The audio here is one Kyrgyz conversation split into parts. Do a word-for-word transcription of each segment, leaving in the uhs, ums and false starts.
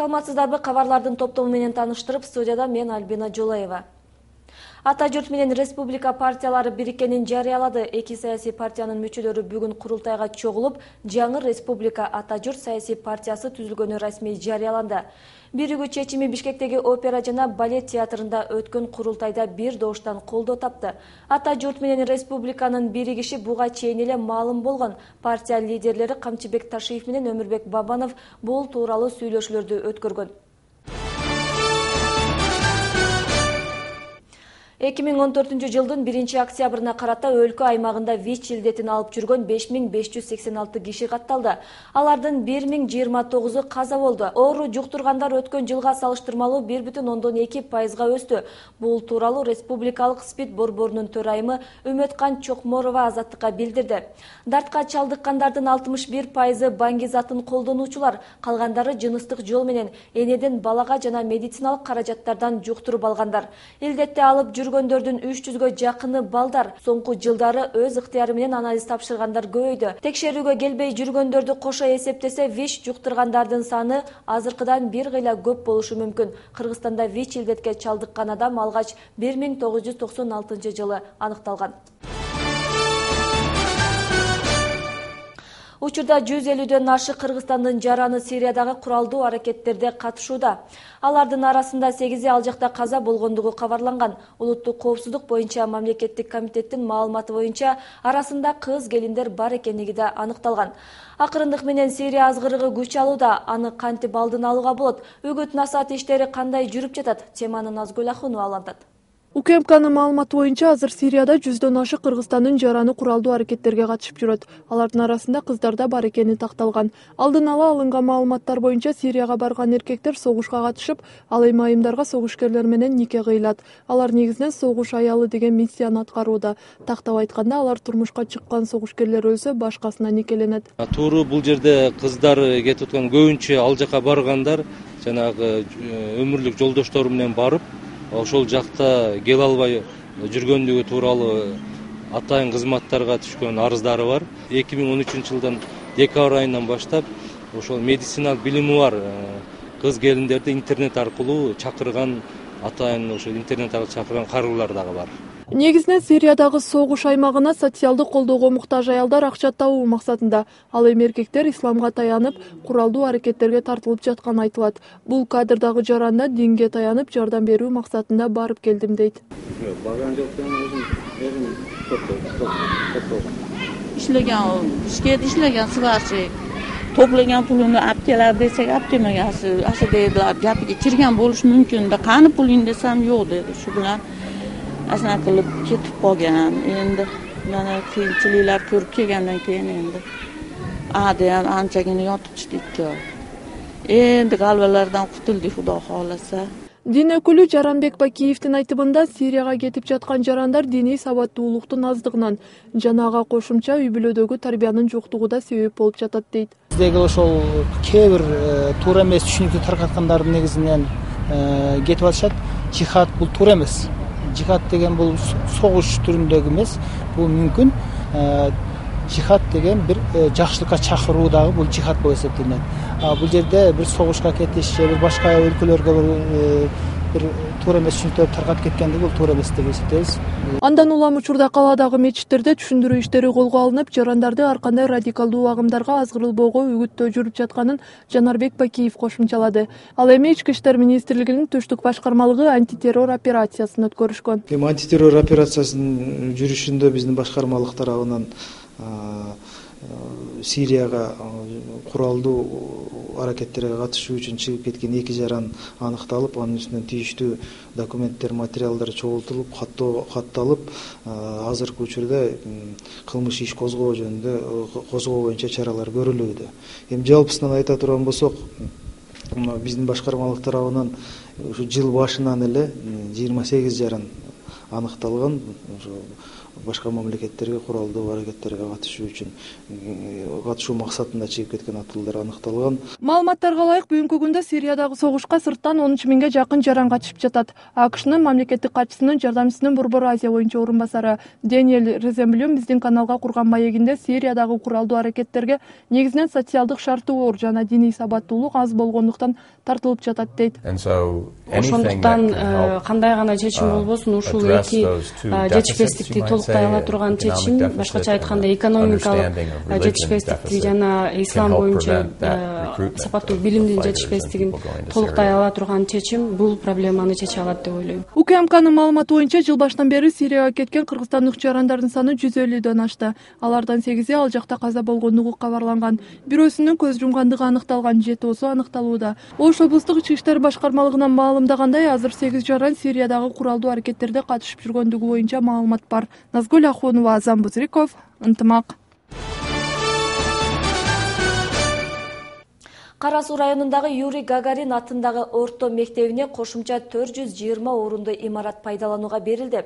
Саламатсыздарбы, кабарлардын топтому менен тааныштырып, студияда мен Альбина Жолаева. Ата журт менен республика партиялары бириккенин жарыялады. Эки саясий партиянын мүчөлөрү бүгүн курултайга чогулуп, жаңы республика Ата журт саясий партиясы түзүлгөнү расмий жарыяланды. Биригүү чечими Бишкектеги опера жана балет театрында өткөн курултайда бир добуштан колдоо тапты. Ата журт менен республиканын биригиши буга чейин эле маалым болгон. Партия лидерлери Камчыбек Ташиев менен Өмүрбек Бабанов бул тууралуу сүйлөшүүлөрдү өткөргөн. эки миң он төртүнчү жылдын биринчи октябрына карата өлкө аймагында ВИЧ илдетин алып жүргөн беш миң беш жүз сексен алты киши катталды. Алардын бир миң жыйырма тогузу каза болду. Оору жуктургандар өткөн жылга салыштырмалуу бир бүтүн ондон эки пайызга өстү. Бул тууралуу Республикалык СПИД борборунун төрайымы Үмөткан Чокморова Азаттыкка билдирди. Дартка чалдыккандардын алтымыш бир пайызы баңгизатын колдонуучулар, калгандары жыныстык жол менен энеден балага жана медициналык каражаттардан жуктуруп алгандар. Илдетти алып жүргөндөрдүн үч жүзгө жакыны балдар. Соңку жылдары өз ыктыяры менен анализ тапшыргандар көбөйдү. Текшерүүгө келбей жүргөндөрдү кошо эсептесе, ВИЧ жуктургандардын саны азыркыдан бир кыйла көп болушу мүмкүн. Кыргызстанда ВИЧ илдетке чалдыккан адам алгач бир миң тогуз жүз токсон алтынчы жылы аныкталган. Учурда жүз элүүдөн ашык Кыргызстандын жараны Сириядагы куралдуу аракеттерде катышууда. Алардын арасында сегизи ал жакта каза болгондугу кабарланган. Улуттук коопсуздук боюнча мамлекеттик комитеттин маалыматы боюнча арасында кыз келиндер бар экендиги да аныкталган. Акырындык менен Сирия азгырыгы күч алууда. Аны кантип алдын алууга болот? Үгүт насаат иштери кандай жүрүп жатат? Теманы Назгүл Ахунова алантат. УКМКнын маалыматы боюнча азыр Сирияда жүздөн ашык Кыргызстандын жараны куралдуу аракеттерге катышып жүрөт. Алардын арасында кыздар да бар экени такталган. Алдын ала алынган маалыматтар боюнча Сирияга барган эркектер согушка катышып, ал эми айымдарга согушкерлер менен нике кыйлат. Алар негизинен согуш аялы деген миссияны аткарууда. Тактап айтканда, алар турмушка чыккан согушкерлер өлсө, башкасына никеленет. Туура бул жерде кыздар кетип аткан көбүнчө ал жака баргандар жанагы өмүрлүк жолдоштору менен барып, ошол жакта келе албай жүргөндүгү тууралуу атайын кызматтарга түшкөн арыздары бар. эки миң он үчүнчү жылдан декабрь айынан баштап ошол медициналык билими бар кыз келиндерди интернет аркылуу чакырган, атайын ошол интернет аркылуу чакырган карылар дагы бар. Негизинен Сириядагы согуш аймагына социалдык колдоого муктаж аялдар акча табуу максатында. Ал эми эркектер исламга таянып, куралдуу аракеттерге тартылып жатканы айтылат. Бул кадрдагы жаранда динге таянып, жардам берүү максатында барып келдим дейт. Барган жоктон өзүм өзүм топтоп иштеген, ишке иштеген сварщик топлаган пулуну алып келер десек, алып келмегенсиз. Ашы дедилар, гапиге кирген болушу мүмкүн да, каны пулуң десем, жок деди. Шу менен асна кылып кетип калган. Эndi мана кыйынчылыктар көрүп келгенден кийин эndi а деген анчагына йотуп чыкты. Эndi калбалардан кутулду Кудо кааласа. Дин өкүлү Жаранбек Бакиевдин айтымында Сирияга кетип жаткан жарандар диний сабаттуулуктун аздыгынан жана ага кошумча үй бүлөдөгү тарбиянын жоктугу да себеп болуп жатат дейт. Биздеги ошол кээ бир туура эмес түшүнүктү таркаткандардын негизинен кетип атышат. Жихад бул туура эмес. Жихад деген бул согуш түрүндөгү эмес, бул мүмкүн. Жихад деген бир жакшылыкка чакыруу дагы бул жихад болуп эсептелет. А бул жерде бир согушка кетиш же бир башка өлкөлөргө бир бир туура эмес түшүнүктөр таркатып кеткендиги бул туура эмес деп эсептейбиз. Андан улам учурда калаадагы мечиттерде түшүндүрүү иштери колго алынып, жарандарды ар кандай радикалдуу агымдарга азгырылбоого үгүттөө жүрүп жатканын Жанарбек Бакиев кошумчалады. Ал эми Ички иштер министрлигинин Түштүк башкармалыгы антитеррор операциясын өткөрүшкөн. Эми антитеррор операциясынын жүрүшүндө биздин башкармалык тарабынан Сирияга куралдуу аракеттерге катышуу үчүн чыгып кеткен эки жаран аныкталып, анын үстүнөн тийиштүү документтер, материалдар чогултулуп, каттоо катталып, азыркы учурда кылмыш иш козгоо жөнүндө козгоо боюнча чаралар көрүлүүдө. Эми жалпысынан айта турган болсок, биздин башкармалык тарабынан ушу жыл башынан эле жыйырма сегиз жаран аныкталган. Башка мамлекеттерге куралдуу аракеттерге катышуу үчүн катышуу максатында чыгып кеткен атуулдар аныкталган. Маалыматтарга ылайык бүгүнкү күндө Сириядагы согушка сырттан он үч миңге жакын жаран катышып жатат. АКШнын мамлекеттик катчысынын жардамчысынын Борбор Азия боюнча орун басары Дэниэль Реземблюм биздин каналга курган маегинде Сириядагы куралдуу аракеттерге негизинен социалдык шарттуу оор жана диний сабаттуулук аз болгондуктан тартылып жатат дейт. Ошондуктан кандай гана чечим болбосун ушул эки жетишпестикти толуктай ала турган чечим, башкача айтканда экономикалык жетишпестикти жана ислам боюнча сапаттуу билимдин жетишпестигин толуктай ала турган чечим бул проблеманы чече алат деп ойлойм. УКМКнын маалыматы боюнча жыл башынан бери Сирияга кеткен кыргызстандык жарандардын саны жүз элүүдөн ашты. Алардан сегизи ал жакта каза болгондугу кабарланган. Бирөөсүнүн көз жумгандыгы аныкталган, жетоосу аныкталууда. Ош облустук ички иштер башкармалыгынан маалымдагандай, азыр сегиз жаран Сириядагы куралдуу аракеттерде катышып жүргөндүгү боюнча маалымат бар. Назгүл Ахунова, Азам Бузриков, Ынтымак. Кара Суу районундагы Юрий Гагарин атындагы орто мектебине кошумча төрт жүз жыйырма орундуу имарат пайдаланууга берилди.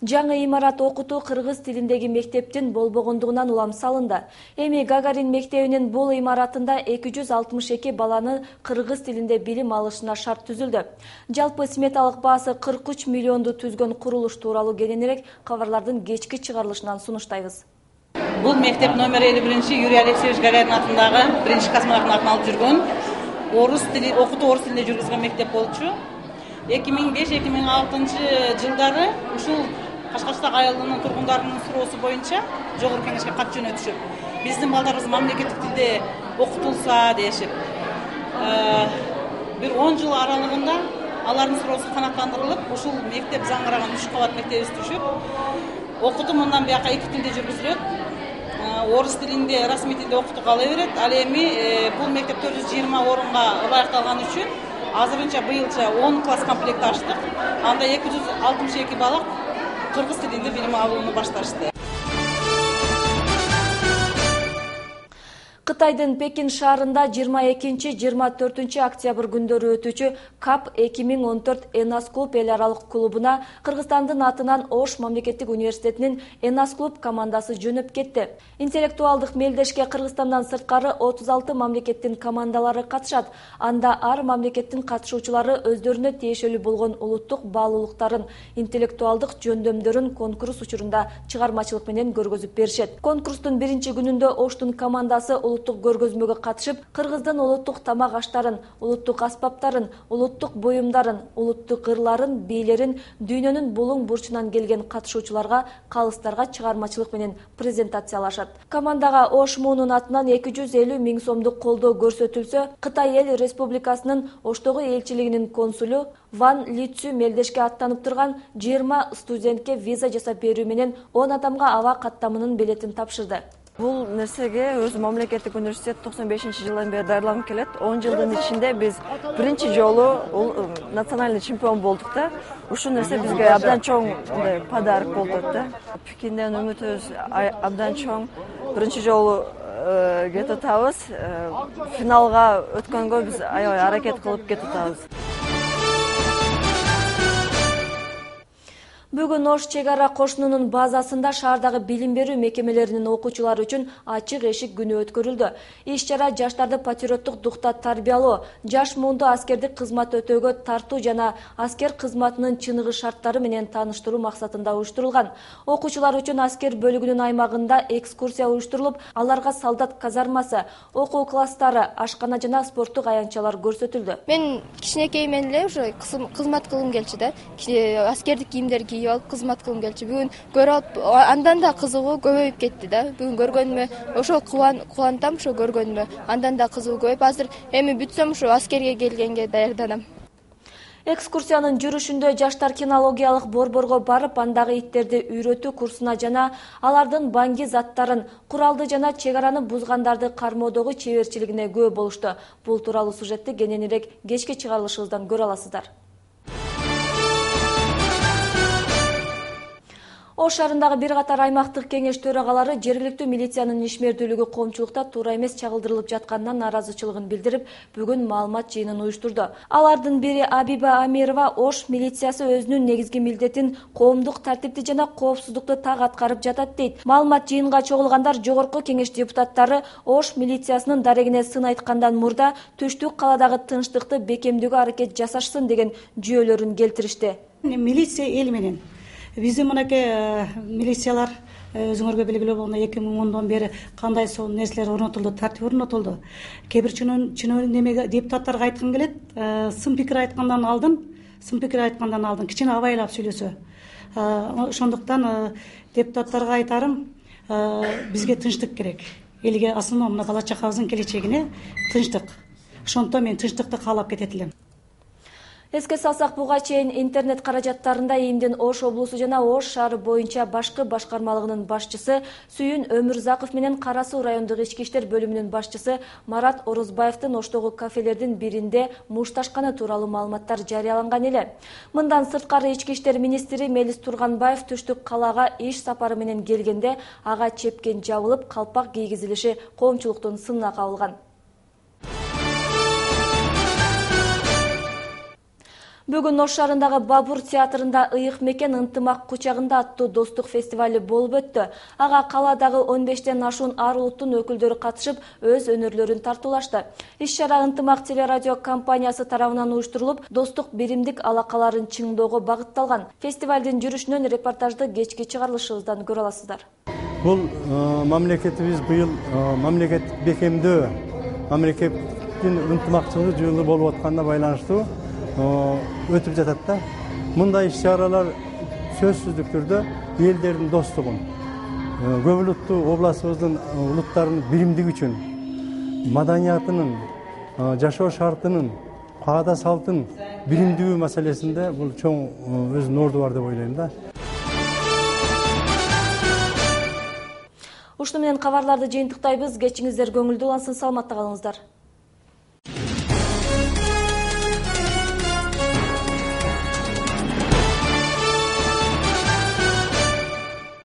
Жаңы имарат окутуу кыргыз тилиндеги мектептин болбогондугунан улам салынды. Эми Гагарин мектебинин бул имаратында эки жүз алтымыш эки баланы кыргыз тилинде билим алышына шарт түзүлдү. Жалпы сметалык баасы кырк үч миллионду түзгөн курулуш тууралуу кененирээк кабарлардын кечки чыгарылышынан сунуштайбыз. Бул мектеп номер элүү биринчи Юрий Алексеевич Гагарин атындагы биринчи космонавтын атын алып жүргөн орус тили окутуу орус тилинде жүргүзгөн мектеп болчу. эки миң беш эки миң алтынчы жылдары ушул Кашкарстак айылынын тургундарынын суроосу боюнча жогорку кеңешке кат жөнөтүшүп, биздин балдарыбыз мамлекеттик тилде окутулса дешип, бир он жыл аралыгында алардын суроосу канааттандырылып, ушул мектеп заңыраган үч кабат мектебибиз түшүп, окутуу мындан бияка эки тилде жүргүзүлөт. Орус тилинде, расмий тилде окутуу кала берет. Ал эми бул мектеп төрт жүз жыйырма орунга ылайыкталган үчүн азырынча быйылча он класс комплект ачтык. Анда эки жүз алтымыш эки бала кыргыз тилинде билим алууну башташты. Кытайдын Пекин шаарында жыйырма экинчи — жыйырма төртүнчү октябрь күндөрү өтүүчү КАП эки миң он төрт Энас клуб эл аралык клубуна Кыргызстандын атынан Ош мамлекеттик университетинин Энас клуб командасы жөнөп кетти. Интеллектуалдык мелдешке Кыргызстандан сырткары отуз алты мамлекеттин командалары катышат. Анда ар мамлекеттин катышуучулары өздөрүнө тиешелүү болгон улуттук баалуулуктарын, интеллектуалдык жөндөмдөрүн конкурс учурунда чыгармачылык менен көргөзүп беришет. Конкурстун биринчи күнүндө Оштун командасы улуттук көргөзмөгө катышып, кыргыздын улуттук тамак аштарын, улуттук аспаптарын, улуттук буюмдарын, улуттук ырларын, бийлерин дүйнөнүн булуң бурчунан келген катышуучуларга, калыстарга чыгармачылык менен презентациялашат. Командага Ош муунун атынан эки жүз элүү миң сомдук колдоо көрсөтүлсө, Кытай Эл Республикасынын Оштогу элчилигинин консулу Ван Лицю мелдешке аттанып турган жыйырма студентке виза жасап берүү менен он адамга аба каттамынын билетин тапшырды. Бул нерсеге өзү мамлекеттик университет токсон бешинчи жылдан бери даярданып келет. он жылдын ичинде биз биринчи жолу национальный чемпион болдук да. Ушул нерсе бизге абдан чоң мындай подарок болду да. Пекинден үмүтүбүз абдан чоң. Биринчи жолу кетип атабыз. Финалга өткөнгө биз аябай аракет кылып кетип атабыз. Бүгүн Ош чек ара кошунунун базасында шаардагы билим берүү мекемелеринин окуучулары үчүн ачык эшик күнү өткөрүлдү. Иш-чара жаштарды патриоттук духта тарбиялоо, жаш муунду аскердик кызмат өтөөгө тартуу жана аскер кызматынын чыныгы шарттары менен тааныштыруу максатында уюштурулган. Окуучулар үчүн аскер бөлүгүнүн аймагында экскурсия уюштурулуп, аларга солдат казармасы, окуу класстары, ашкана жана спорттук аянтчалар көрсөтүлдү. Мен кичинекеймен эле ушу кызмат кылгым келчү да. Аскердик кийимдер кийип алып кызмат кылгым келчү. Бүгүн көрүп алып, андан да кызыгуу көбөйүп кетти да. Бүгүн көргөнүмө ошо кубанам, ошо көргөнүмө. Андан да кызыгуу көбөйүп, азыр эми бүтсөм ушу аскерге келгенге даярданам. Экскурсиянын жүрүшүндө жаштар кинологиялык борборго барып, андагы иттерди үйрөтүү курсуна жана алардын баңги заттарын, куралды жана чек араны бузгандарды кармоодогу чеберчилигине күбө болушту. Бул тууралуу сюжетти кененирээк кечки чыгарылышыбыздан көрө аласыздар. Ош шаарындагы бир катар аймактык кеңеш төрагалары жергиликтүү милициянын ишмердүүлүгү коомчулукта туура эмес чагылдырылып жатканынан нааразычылыгын билдирип, бүгүн маалымат жыйынын уюштурду. Алардын бири Абиба Амирова Ош милициясы өзүнүн негизги милдетин коомдук тартипти жана коопсуздукту так аткарып жатат дейт. Маалымат жыйынга чогулгандар жогорку кеңеш депутаттары Ош милициясынын дарегине сын айткандан мурда түштүк каладагы тынчтыкты бекемдөөгө аракет жасашсын деген жүйөлөрүн келтиришти. Милиция эл менен биздин мынакей милициялар өзүңөргө белгилүү болгондой эки миң ондон бери кандай сол нерселер орнотулду, тартип орнотулду. Кээ бир чынын немеге депутаттарга айткым келет, сын пикир айткандан алдын, сын пикир айткандан алдын кичине абайлап сүйлөсө. Ошондуктан депутаттарга айтарым, бизге тынчтык керек. Элге асылма мына бала чакабыздын келечегине тынчтык. Ошондуктан мен тынчтыкты каалап кетет элем. Эске салсак, буга чейин интернет каражаттарында Ийимдин Ош облусу жана Ош шаары боюнча башкы башкармалыгынын башчысы Сүйүн Өмүрзаков менен Кара Суу райондук ички иштер бөлүмүнүн башчысы Марат Орозбаевдин Оштогу кафелердин биринде мушташканы тууралуу маалыматтар жарыяланган эле. Мындан сырткары ички иштер министри Мелис Турганбаев түштүк калаага иш сапары менен келгенде ага чепкен жабылып, калпак кийгизилиши коомчулуктун сынына кабылган. Бүгүн Ош шаарындагы Бабур театрында Ыйык мекен ынтымак кучагында аттуу достук фестивали болуп өттү. Ага каладагы он бештен ашуун ар улуттун өкүлдөрү катышып, өз өнөрлөрүн тартуулашты. Иш-чара Ынтымак телерадио компаниясы тарабынан уюштурулуп, достук биримдик алакаларын чыңдоого багытталган. Фестивалдын жүрүшүнөн репортажды кечки чыгарылышыбыздан көрө аласыздар. Бул мамлекетибиз быйыл мамлекеттик бекемдөө, мамлекеттин ынтымакчылык жылы болуп атканына байланыштуу өтүп жатат да. Мындай иш-чаралар сөзсүздүк түрдө элдердин достугун, көп улуттуу областыбыздын улуттарынын биримдиги үчүн, маданиятынын, жашоо шартынын, каада салтын биримдүү маселесинде бул чоң өзүнүн орду бар деп ойлойм да. Ушуну менен кабарларды жыйынтыктайбыз. Кечиңиздер көңүлдүү улансын, саламатта калыңыздар.